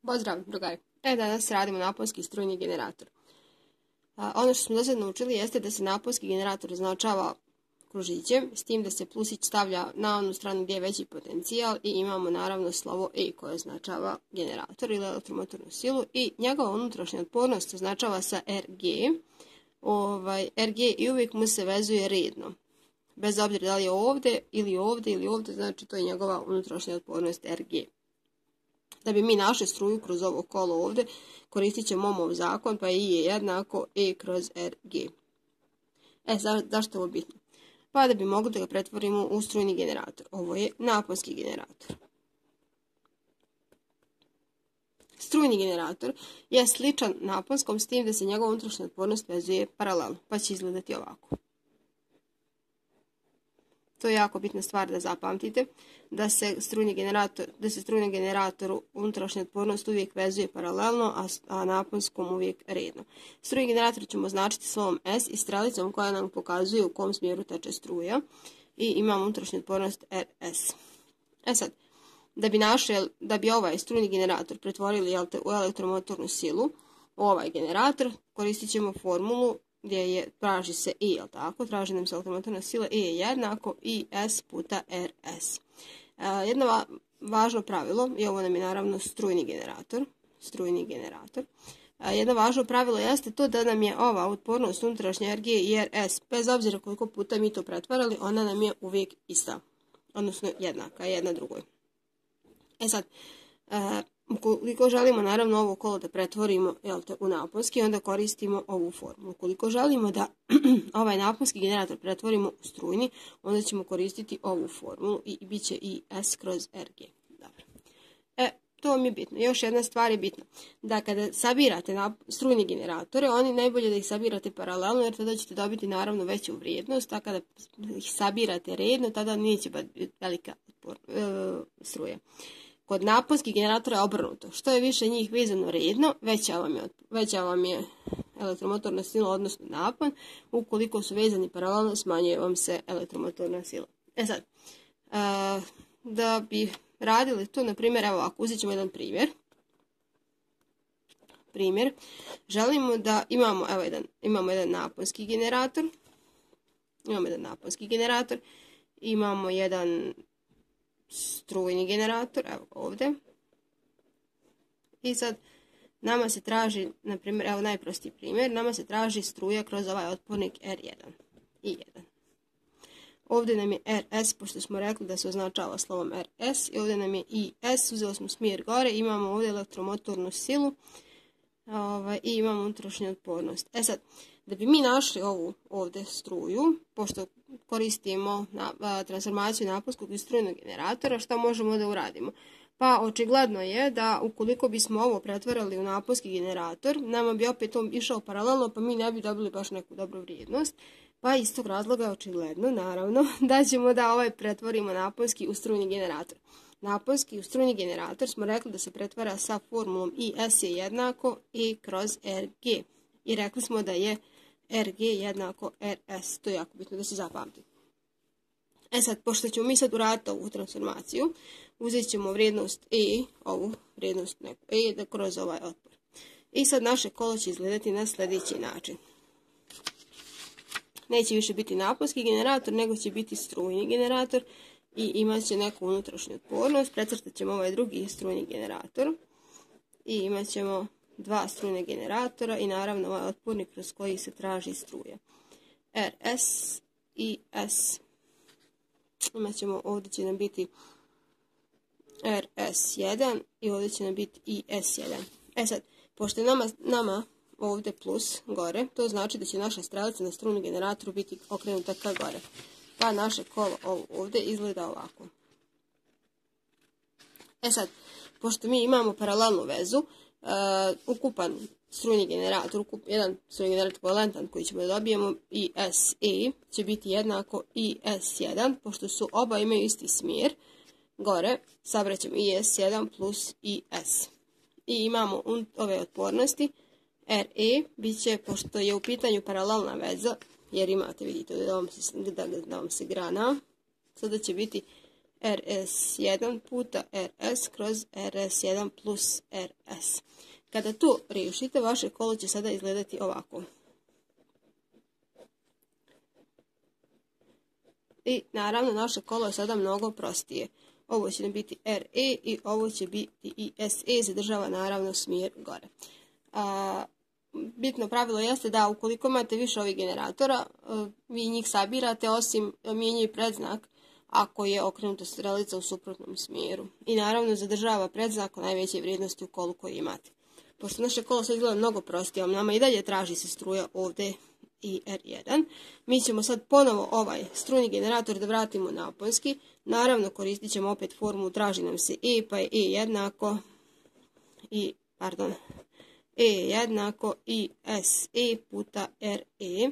Pozdrav, drugari. Danas radimo naponski strujni generator. Ono što smo do sada naučili jeste da se naponski generator označava kružićem, s tim da se plusić stavlja na onu stranu gdje je veći potencijal i imamo naravno slovo E koje označava generator ili elektromotornu silu i njegova unutrašnja otpornost označava sa RG. RG i uvijek mu se vezuje redno. Bez obzira da li je ovdje ili ovdje ili ovdje, znači to je njegova unutrašnja otpornost RG. Da bi mi našli struju kroz ovo kolo ovdje, koristit ćemo Ohmov zakon, pa I je jednako E kroz RG. Zašto je ovo bitno? Pa da bi mogli da ga pretvorimo u strujni generator. Ovo je naponski generator. Strujni generator je sličan naponskom s tim da se njegova unutrašnja otpornost vezuje paralelno, pa će izgledati ovako. To je jako bitna stvar da zapamtite, da se strujni generator unutrašnja otpornost uvijek vezuje paralelno, a naponskom uvijek redno. Strujni generator ćemo označiti slovom S i strelicom koja nam pokazuje u kom smjeru teče struja i imamo unutrašnju otpornost RS. Sad, da bi ovaj strujni generator pretvorili u elektromotornu silu, ovaj generator, koristit ćemo formulu gdje traži se E, jel tako? Traži nam se elektromotorna sila E je jednako IS puta RS. Jedno važno pravilo, i ovo nam je naravno strujni generator. Jedno važno pravilo jeste to da nam je ova otpornost unutrašnja RG i RS, bez obzira koliko puta mi to pretvarali, ona nam je uvijek ista, odnosno jednaka, jedna drugoj. Sad, ukoliko želimo naravno ovo kolo da pretvorimo u naponski, onda koristimo ovu formulu. Ukoliko želimo da ovaj naponski generator pretvorimo u strujni, onda ćemo koristiti ovu formulu i bit će i S kroz RG. Dobro. To vam je bitno. Još jedna stvar je bitna. Da kada sabirate strujni generatore, oni najbolje da ih sabirate paralelno, jer tada ćete dobiti naravno veću vrijednost, a kada ih sabirate redno, tada neće biti velika struja. Kod naponskih generatora je obrnuto. Što je više njih vezano redno, veća vam je elektromotorna sila, odnosno napon. Ukoliko su vezani paralelno, smanjuje vam se elektromotorna sila. Sad, da bi radili to, na primjer, evo ovako, uzet ćemo jedan primjer. Želimo da imamo jedan naponski generator. Imamo jedan strujni generator, evo ovdje. I sad nama se traži, na primjer, evo najprostiji primjer, nama se traži struja kroz ovaj otpornik R1 i 1. Ovdje nam je RS, pošto smo rekli da se označava slovom RS, i ovdje nam je IS, uzeli smo smjer gore, imamo ovdje elektromotornu silu i imamo unutrašnju otpornost. Sad, da bi mi našli ovu ovdje struju, pošto koristimo transformaciju naponskog i strujnog generatora, šta možemo da uradimo? Pa očigledno je da ukoliko bismo ovo pretvarali u naponski generator, nama bi opet on išao paralelno, pa mi ne bi dobili baš neku dobru vrijednost. Pa iz tog razloga je očigledno, naravno, da ćemo da pretvorimo naponski u strujni generator. Naponski u strujni generator smo rekli da se pretvara sa formulom IS je jednako E kroz RG. I rekli smo da je RG jednako RS. To je jako bitno da se zapamti. Sad, pošto ćemo mi sad uraditi ovu transformaciju, uzet ćemo vrijednost E, ovu vrijednost neku E, kroz ovaj otpor. I sad naše kolo će izgledati na sljedeći način. Neće više biti naponski generator, nego će biti strujni generator i imat će neku unutrašnju otpornost. Precrtat ćemo ovaj drugi strujni generator i imat ćemo dva strujne generatora i naravno ovaj otpornik kroz koji se traži struja. RS i S. Imat ćemo, ovdje će nam biti RS1 i ovdje će nam biti i S1. Sad, pošto je nama ovdje plus gore, to znači da će naša strelica na strujnom generatoru biti okrenuta ka gore. Pa naše kolo ovdje izgleda ovako. Sad, pošto mi imamo paralelnu vezu, ukupan strujni generator, jedan strujni generator valentan koji ćemo da dobijemo ISE će biti jednako IS1, pošto su oba imaju isti smjer. Gore sabraćemo IS1 plus IS. I imamo ove otpornosti. RE bit će, pošto je u pitanju paralelna veza, jer imate, vidite, da vam se grana, sada će biti RS1 puta RS kroz RS1 plus RS. Kada to riješite, vaše kolo će sada izgledati ovako. I naravno naše kolo je sada mnogo prostije. Ovo će nam biti RE i ovo će biti i SE, zadržava naravno smjer gore. Bitno pravilo jeste da ukoliko imate više ovih generatora, vi njih sabirate, osim mijenjaju predznak ako je okrenuta strelica u suprotnom smjeru. I naravno zadržava predznak o najveće vrijednosti u kolu koji imate. Pošto naše kolo sad izgleda mnogo prostije, nama i dalje traži se struja ovdje i R1. Mi ćemo sad ponovo ovaj strujni generator da vratimo naponski. Naravno koristit ćemo opet formulu, traži nam se E, pa je E jednako i SE puta RE.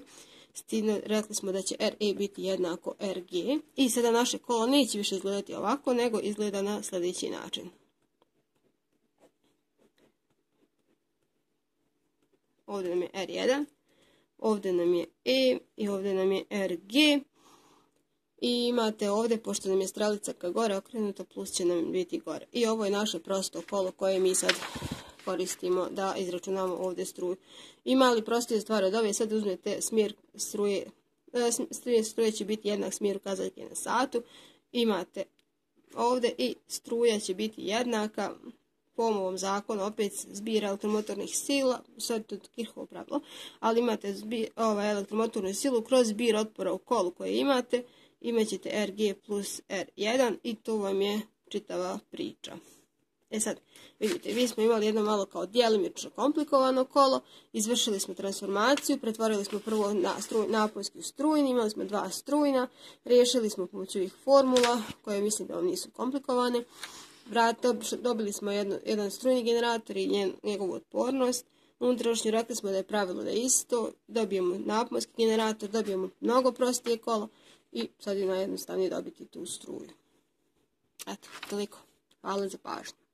S tim rekli smo da će RE biti jednako RG. I sada naše kolo neće više izgledati ovako, nego izgleda na sljedeći način. Ovdje nam je R1, ovdje nam je E i ovdje nam je RG. I imate ovdje, pošto nam je strelica ka gore okrenuta, plus će nam biti gore. I ovo je naše prosto kolo koje mi sad koristimo da izračunamo ovdje struju. Ima li prostije stvari od ove? Sad uzmete smjer struje. Struje će biti jednak smjeru kazaljke na satu. Imate ovdje i struja će biti jednaka po ovom zakonu, opet zbir elektromotornih sila, sad to je Kirchhoff pravilo, ali imate elektromotornu silu kroz zbir otpora u kolu koje imate, imat ćete RG plus R1 i to vam je čitava priča. Sad, vidite, mi smo imali jedno malo kao djelimično komplikovano kolo, izvršili smo transformaciju, pretvorili smo prvo naponski u strujni, imali smo dva strujna, riješili smo pomoću ovih formula, koje mislim da vam nisu komplikovane. Dobili smo jedan strujni generator i njegovu otpornost. Unutrašnju rekli smo da je pravilo da je isto. Dobijemo naponski generator, dobijemo mnogo prostije kolo i sad je najjednostavnije dobiti tu struju. Eto, toliko. Hvala za pažnju.